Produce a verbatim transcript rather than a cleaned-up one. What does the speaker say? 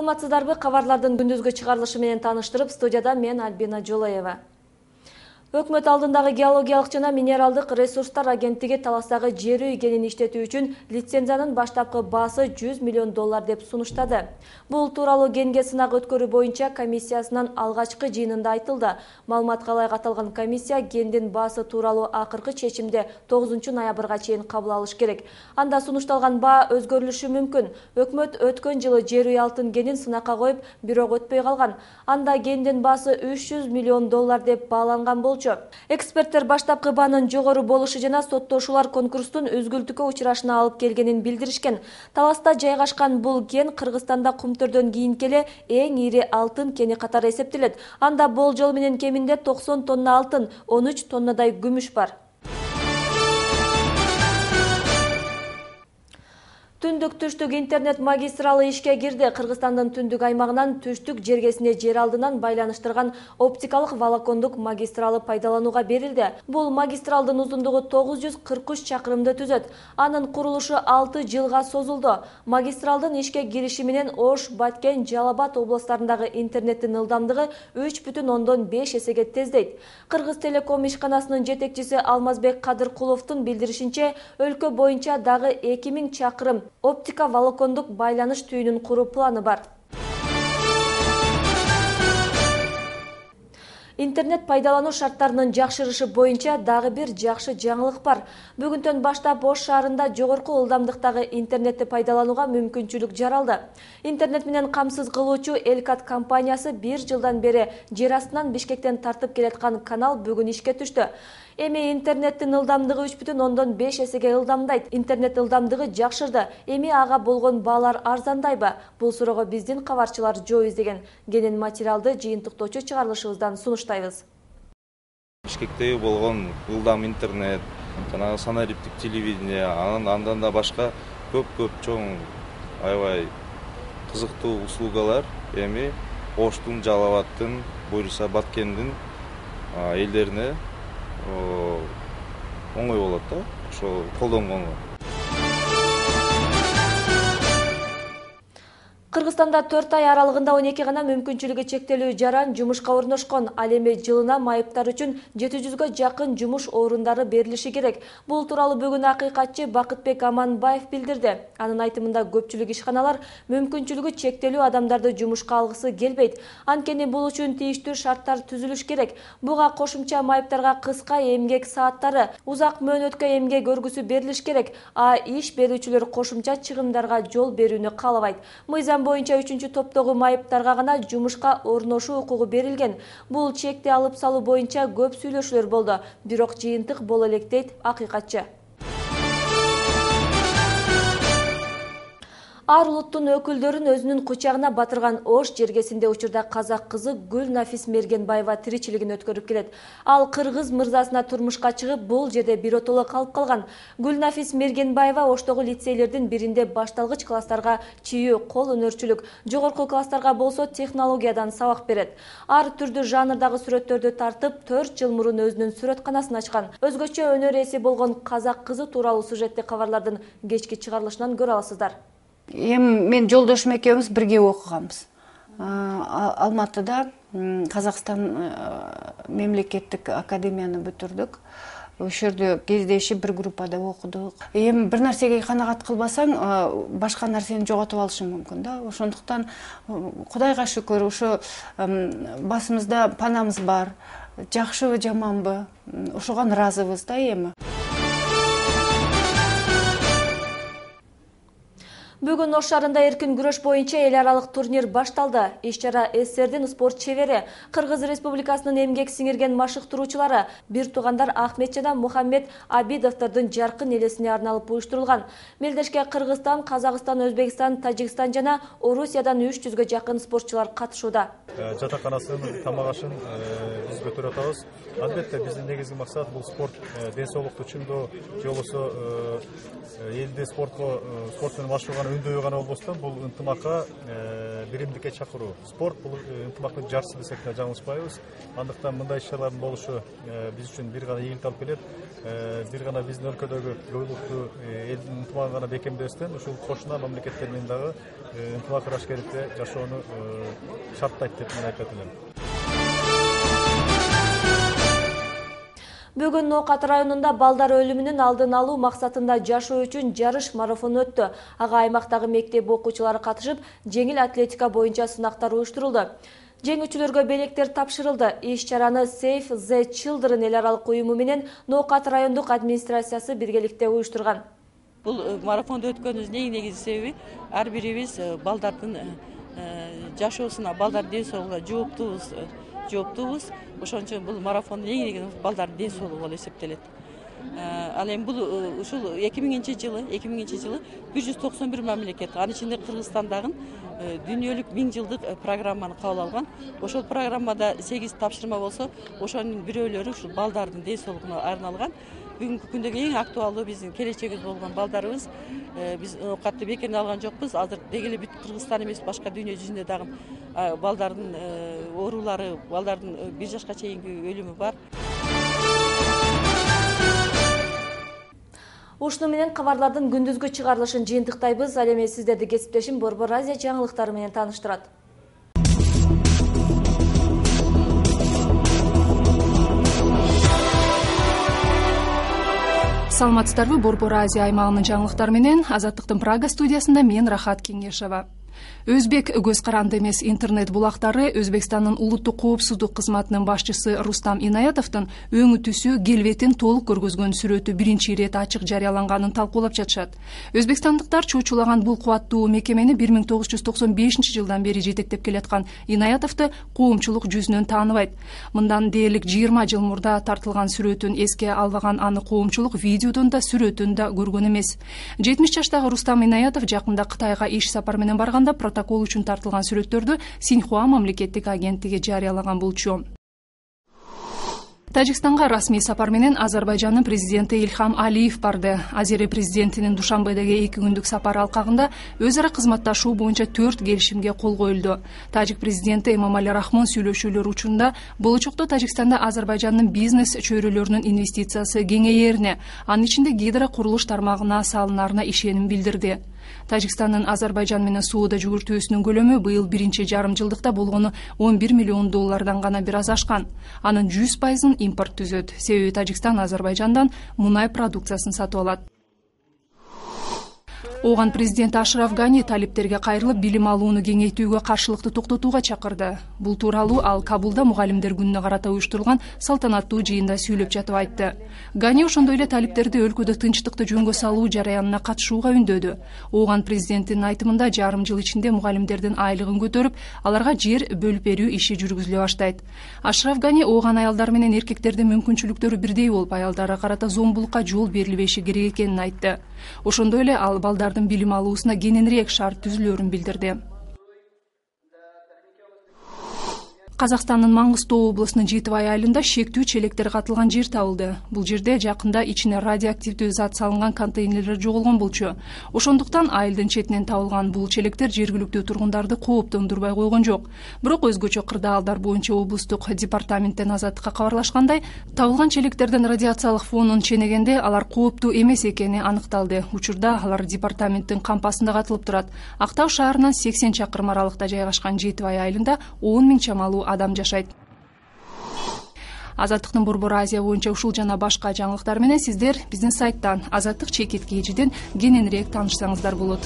Саламатсыздарбы? Кабарлардын күндүзгү чыгарылышы менен тааныштырып, студияда мен Альбина Жолаева. Өкмөт алдындагы геологиялык жана минералдык ресурстар агенттиги Таластагы жер үй кенин иштетүү үчүн лицензиянын баштапкы баасы жүз миллион доллар деп сунуштады. Бул тууралуу кенге сынак өткөрүү боюнча комиссиясынын алгачкы жыйынында айтылды. Маалыматка ылайык аталган комиссия кендин баасы тууралуу акыркы чечимди тогузунчу ноябрга чейин кабыл алыш керек. Анда сунушталган баа өзгөрүлүшү мүмкүн. Өкмөт өткөн жылы жер үй алтын кенин сынакка коюп, бирок өтпөй калган. Анда кендин баасы үч жүз миллион доллар деп бааланган болчу. Эксперттер баштапкы баанын жогору болушу жана соттоошулар конкурстун үзгүлтүккө учурашына алып келгенин билдиришкен. Таласта жайгашкан бул кен Кыргызстанда Кумтөрдөн кийинки эле эң ири алтын кени катары эсептелет. Анда болжол менен кеминде токсон тонна алтын, он үч тоннадай күмүш бар. Түндүк-түштүк интернет магистралы ишке кирди. Кыргызстандын түндүк аймагынан түштүк жергесине жер алдынан байланыштырган оптикалык волокондук магистралы пайдаланууга берилди. Бул магистралдын узундугу тогуз жүз кырк үч чакырымды түзөт. Анын курулушу алты жылга созулду. Магистралдын ишке кириши менен Ош, Баткен, Жалал-Абад областарындагы интернеттин ылдамдыгы үч бүтүн ондон беш эсеге тездейт. Кыргыз телеком ишканасынын жетекчиси Алмазбек Кадыркуловдун билдиришинче, өлкө боюнча дагы эки миң чакырым оптика волокондук байланыш түйүнүн куруу планы бар. Интернет пайдалануу шарттарынын жакшырышы боюнча дагы бир жакшы жаңылык бар. Бүгүндөн баштап Ош шаарында жогорку ылдамдыктагы интернетти пайдаланууга мүмкүнчүлүк жаралды. Интернет менен камсыз кылуучу Элкат компаниясы бир жылдан бери жер астынан Бишкектен тартып келаткан канал бүгүн ишке түштү. Эми интернеттин ылдамдыгы үч бүтүн ондон беш эсеге ылдамдайт. Интернет ылдамдыгы жакшырды. Эми ага болгон баалар арзандайбы? Бул суроого биздин кабарчылар жооп издеген. Кенен материалды жыйынтыктоочу чыгарылышыбыздан сунуштайбыз. Бишкектеги болгон ылдам интернет, жана санариптик телевидение, андан да башка көп-көп чоң аябай кызыктуу услугалар эми Оштун, Жалал-Абадтын, буюрса Баткендин элдерине оңой болот да, ошо колдонгонго. Кыргызстанда төрт ай аралыгында он эки гана мүмкүнчүлүгү чектелүү жаран жумушка орношкон. Ал эми жылына майыптар үчүн жети жүзгө жакын жумуш орундары берилиши керек. Бул тууралуу бүгүн акыйкатчы Бакытбек Аманбаев билдирди. Анын айтымында көпчүлүк ишканалар мүмкүнчүлүгү чектелүү адамдарды жумушка алгысы келбейт. Анткени бул үчүн тийиштүү шарттар түзүлүш керек. Буга кошумча майыптарга кыска эмгек сааттары, узак мөөнөткө эмгек өргүсү берилиш керек. А иш берүүчүлөр кошумча чыгымдарга жол берүүнү каалабайт. Мыйзам боюнча үчүнчү топтогу майыптарга гана жумушка орношуу укугу берилген. Бул чекти алып салуу боюнча көп сүйлөшүүлөр болду, бирок жыйынтык боло элек дейт акыйкатчы. Ар улуттун өкүлдөрүн өзүнүн кучагына батырган Ош жергесинде учурда казак кызы Гүлнафис Мергенбаева тиричилигин өткөрүп келет. Ал кыргыз мырзасына турмушка чыгып, бул жерде биротоло калып калган. Гүлнафис Мергенбаева Оштогу лицейлердин биринде башталгыч класстарга чийүү, кол өнөрчүлүк, жогорку класстарга болсо технологиядан сабак берет. Ар түрдүү жанрдагы сүрөттөрдү тартып, төрт жыл мурун өзүнүн сүрөтканасын ачкан. Өзгөчө өнөр ээси болгон казак кызы тууралуу сюжетти кабарлардын кечки чыгарылышынан көрө аласыздар. Эми мен жолдошум экөөбүз бирге окуганбыз. Алматыда Казакстан мемлекеттик академияны бүтүрдүк. Ошол жерде кездешип бир группада окудук. Эми бир нерсеге канагат кылбасаң, башка нерсени жоготуп алышың мүмкүн да. Ошондуктан Кудайга шүкүр, ошо басымызда панамыз бар. Жакшыбы, жаманбы, ошого ыраазыбыз да эми. Бүгүн Ош шаарында эркин күрөш боюнча эл аралык турнир башталды. Иш-чара СССРдин спорт чебери, Кыргыз Республикасынын эмгек сиңирген машыктыруучулары, бир туугандар Ахмет жана Мухаммед Абидовдордун жаркын элесине арналып уюштурулган. Мелдешке Кыргызстан, Казакстан, Өзбекстан, Тажикстан жана Орусиядан үч жүзгө жакын спортчулар катышууда. Жатаканасын, тамак ашын биз көтөрүп атабыз. Албетте биздин негизги максат бул спорт ден соолукту чыңдоо, же болбосо элди спортко спорт менен машыгууга күндөйү гана болбостон бул ынтымакка биримдикке чакыруу. Спорт бул ынтымактын жарчысы десек да жаңылышпайбыз. Андыктан мындай иш-чаралардын болушу биз үчүн бир гана ийгилик алып келет. Бир гана биздин өлкөдөгү көпүлүктүү элдин ынтымагын гана бекемдебестен ушул кошуна мамлекеттер менен дагы ынтымак ырашкерликте жашоону шарттайт деп мен айтат элем. Бүгүн Ноокат районунда балдар өлүмүнүн алдын алуу максатында жашоо үчүн жарыш марафону өттү. Ага аймактагы мектеп окуучулары катышып, жеңил атлетика боюнча сынактар уюштурулду. Жеңүүчүлөргө белектер тапшырылды. Иш-чараны Save the Children эл аралык уюму менен Ноокат райондук администрациясы биргеликте уюштурган. Бул марафонду өткөнүбүздүн эң негизги себеби ар бирибиз балдардын жашоосуна, балдар ден соолугуна жооптубуз. жооптубуз. Ошон үчүн бул марафондун эң негизги балдардын ден соолугу болуп эсептелет. Ал эми бул ушул эки миңинчи жылы, эки миңинчи жылы бир жүз токсон бир мамлекет, анын ичинде Кыргызстандагы дүйнөлүк миң жылдык программаны кабыл алган. Ошол программада сегиз тапшырма болсо, ошонун бирөөлөрү ушул балдардын ден соолугуна арналган. Бүгүнкү күндөгү эң актуалдуу биздин келечегибиз болгон балдарыбыз. Биз Ноокатты бекерден алган жокпуз. Азыр деги эле бүт Кыргызстан эмес, башка дүйнө жүзүндө дагы балдардын оорулары, балдардын бир жашка чейинки өлүмү бар. Ушуну менен кабарлардын күндүзгү чыгарылышын жыйынтыктайбыз. Ал эми сиздерди кесиптешим Борбор Азия жаңылыктары менен тааныштырат. Саламатсыздарбы? Борбор Азия аймагынын жаңылыктары менен Азаттыктын Прага студиясында мен Рахат Кеңешова. Өзбек көз каранды эмес интернет булактары Өзбекстандын улуттук коопсуздук кызматынын башчысы Рустам Инаятовдун өңү түсү келбетин толук көргөзгөн сүрөтү биринчи ирет ачык жарыяланганын талкуулап жатышат. Өзбекстандыктар чуучулаган бул кубаттуу мекемени бир миң тогуз жүз токсон бешинчи жылдан бери жетектеп келаткан Инаятовду коомчулук жүзүнөн тааныбайт. Мындан дээрлик жыйырма жыл мурда тартылган сүрөтүн эске албаган аны коомчулук видеодон да сүрөтүн да көргөн эмес. жетимиш жаштагы Рустам Инаятов жакында Кытайга иш сапар менен барганда протокол үчүн тартылган сүрөттөрдү Синьхуа мамлекеттик агенттиги жарыялаган болчу. Тажикстанга расмий сапар менен Азербайжандын президенти Ильхам Алиев барды. Азери президентинин Душанбедеги эки күндүк сапары алкагында өз ара кызматташуу боюнча төрт келишимге кол коюлду. Тажик президенти Эмомали Рахмон сүйлөшүүлөр учурунда болочокто Тажикстанда Азербайжандын бизнес чөйрөлөрүнүн инвестициясы кеңейерине, анын ичинде гидро курулуш тармагына салынарына ишеним билдирди. Тажикстандын Азербайжан менен соода жүгүртүүсүнүн көлөмү быйыл биринчи жарым жылдыкта болгону он бир миллион доллардан гана бир аз ашкан. Анын жүз пайызын импорт түзөт. Себеби Тажикстан Азербайжандан мунай продукциясын сатып алат. Оған президент Ашраф Гани талиптерге кайрылып билим алууну кеңейтүүгө каршылыкты токтотууга чакырды. Бул тууралуу ал Кабулда мугалимдер күнүнө карата уюштурулган салтанаттуу жыйында сүйлөп жатып айтты. Гани ошондой эле талиптерди өлкөдө тынчтыкты жөнгө салуу жараянына катышууга үндөдү. Оған президенттин айтымында жарым жыл ичинде мугалимдердин айлыгын көтөрүп, аларга жер бөлүп берүү иши жүргүзүлө баштайт. Ашраф Гани ооган аялдар менен эркектердин мүмкүнчүлүктөрү бирдей болуп, аялдарга карата зомбулукка жол берилбеши керек экенин айтты. Ошондой эле ал балдардын билим алуусуна кененирээк шарт түзүлөөрүн билдирди. Казакстандын Маңгыстоо облусунун Жетибай айылында шектүү челектер катылган жер табылды. Бул жерде жакында ичине радиоактивдүү зат салынган контейнерлер жоголгон болчу. Ошондуктан айылдын четинен табылган бул челектер жергиликтүү тургундарды кооптондурбай койгон жок. Бирок өзгөчө кырдаалдар боюнча облустук департаменттен Азаттыкка кабарлашкандай, табылган челектердин радиациялык фонун ченегенде алар кооптуу эмес экени аныкталды. Учурда алар департаменттин кампасында катылып турат. Актау шаарынан сексен чакырым аралыкта жайгашкан Жетибай айылында он миң чамалуу адам жашайт. Азаттыктын Борбор Азия боюнча ушул жана башка жаңылыктар менен сиздер биздин сайттан азаттык чекит кежиден кененирээк таанышсаңыздар болот.